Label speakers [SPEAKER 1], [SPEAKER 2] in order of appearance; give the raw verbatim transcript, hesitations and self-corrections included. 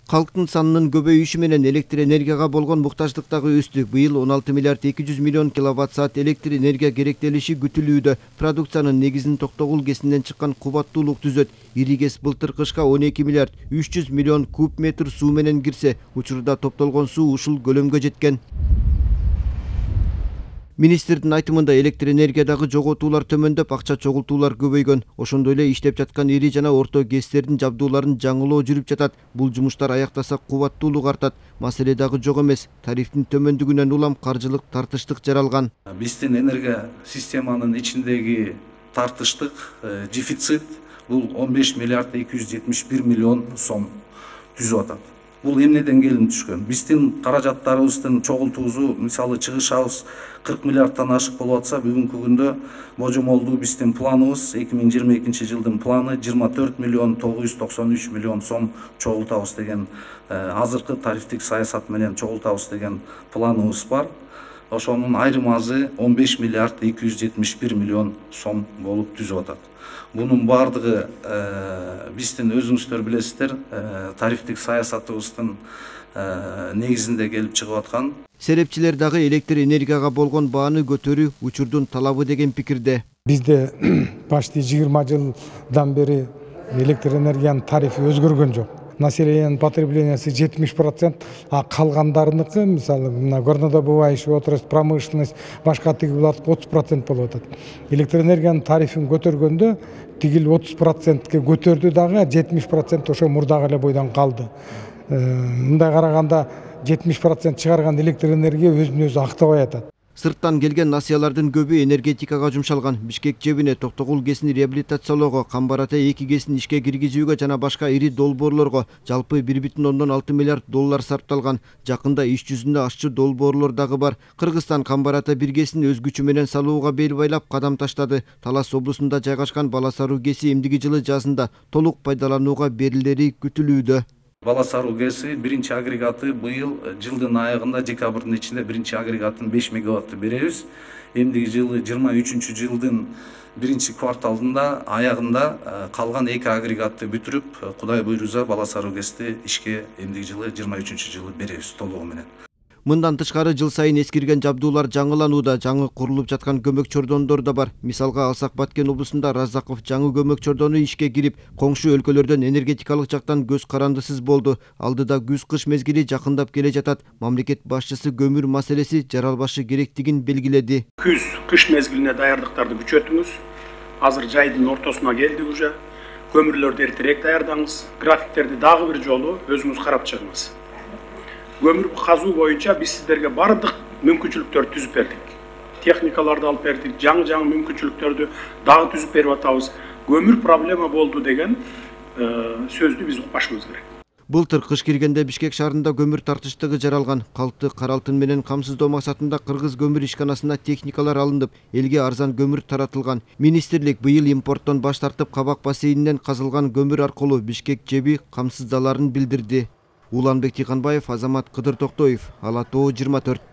[SPEAKER 1] Калктын санынын көбөйүшү менен электр энергияга болгон муктаждык дагы өстү. Быйыл он алты миллиард эки жүз миллион киловатт саат электр энергия керектелиши күтүлүүдө. Продукциянын негизин Токтогул КЭСинен чыккан кубаттуулук түзөт. Ири КЭС былтыр кышка он эки миллиард үч жүз миллион куб метр суу менен кирсе, учурда топтолгон суу ушул көлөмгө жеткен. Министрдин айтымында электр энергиядагы жоготуулар төмөндөп, акча чогултуулар көбөйгөн. Ошондой эле иштеп жаткан ири жана орто КЭСтердин жабдууларын жаңылоо жүрүп жатат. Бул жумуштар аяктаса кубаттуулук артат. Маселе дагы жок эмес. Тарифтин төмөндүгүнөн улам каржылык тартыштык жаралган.
[SPEAKER 2] Биздин энергия системанын ичиндеги тартыштык дефицит бул он беш миллиард эки жүз жетимиш бир миллион сом түзүп атат. Бул эмнеден келип түшкөн? Биздин каражаттарыбыздын чогултуусу, мисалы чыгышабыз кырк миллиардтан ашык болуп атса, бүгүнкү күндө божомолдуу биздин планыбыз эки миң жыйырма экинчи жылдын планы жыйырма төрт миллион тогуз жүз токсон үч миллион сом чогултабыз деген, азыркы тарифтик саясат менен чогултабыз деген планыбыз бар. Ошонун айрым азы он беш миллиард эки жүз жетимиш бир миллион сом болуп түзүп атат. Бунун бардыгы биздин өзүңүздөр билесиздер, тарифтик саясатыбыздын негизинде келип чыгып аткан.
[SPEAKER 1] Серепчилер дагы электр энергияга болгон бааны көтөрүү учурдун талабы деген пикирде.
[SPEAKER 3] Бизде почти жыйырма жылдан бери электр энергиянын тарифи өзгөргөн жок. Населениянын потреблениясы жетимиш процент, а калгандарыныкы, мисалы, мына горнодобывающий отрасль, промышленность, башка тиги булардыкы отуз процент болуп атат. Электр энергиянын тарифин көтөргөндө тигил отуз процентке көтөрдү дагы, жетимиш процент ошо мурдагы эле бойдон калды. Мындай караганда жетимиш процент чыгарган электр энергия өзүн өзү актабай атат.
[SPEAKER 1] Сырттан келген насыялардын көбү энергетикага жумшалган. Бишкек жебине Токтогул КЭСин реабилитациялоого, Камбар-Ата эки КЭСин ишке киргизүүгө жана башка ири долбоорлорго жалпы бир бүтүн ондон алты миллиард доллар сарпталган. Жакында иш жүзүндө ашчы долбоорлор дагы бар. Кыргызстан Камбар-Ата бир КЭСин өз күчү менен салууга бел байлап кадам таштады. Талас облусунда жайгашкан Баласаруу КЭСи эмдиги жылы жазында толук пайдаланууга берилери күтүлүүдө.
[SPEAKER 2] Баласаруу КЭСи биринчи агрегаты быйыл жылдын аягында, декабрдын ичинде биринчи агрегатын беш мегаватты беребиз. Эмдиги жылы жыйырма үчүнчү жылдын биринчи кварталында аягында калган эки агрегатты бүтүрүп, Кудай буйруза Баласаруу КЭСти ишке эмдиги жылы жыйырма үчүнчү жылы беребиз толугу менен.
[SPEAKER 1] Мындан тышкары жыл сайын эскирген жабдуулар жаңыланууда, жаңы курулуп жаткан көмөк чордондор да бар. Мисалга алсак, Баткен облусунда Разаков жаңы көмөк чордону ишке кирип, коңшу өлкөлөрдөн энергетикалык жактан көз карандысыз болду. Алдыда күз-кыш мезгили жакындап келе жатат. Мамлекет башчысы көмүр маселеси жаралбашы керектигин белгиледи.
[SPEAKER 4] Күз-кыш мезгилине даярдыктарды күчөтүңүз. Азыр жайдын ортосуна келдик уже. Көмүрлөрдү эртерээк даярдаңыз. Графиктерди дагы бир жолу өзүңүз карап чыгыңыз. Көмүр казуу боюнча биз сиздерге бардык мүмкүнчүлүктөрдү түзүп бердик. Техникаларды алып бердик, жаңы-жаңы мүмкүнчүлүктөрдү дагы түзүп берип атабыз. Көмүр проблема болду деген сөздү биз укпашыбыз керек.
[SPEAKER 1] Былтыр кыш киргенде Бишкек шаарында көмүр тартыштыгы жаралган. Калкты кара алтын менен камсыздоо максатында Кыргыз көмүр ишканасына техникалар алынып, элге арзан көмүр таратылган. Министрлик быйыл импорттон баш тартып, Кабак бассейнинен казылган көмүр аркылуу Бишкек жеби камсыздаларын билдирди. Уланбек Тыйканбаев, Азамат Кыдыр Токтоев, Ала Тоо жыйырма төрт.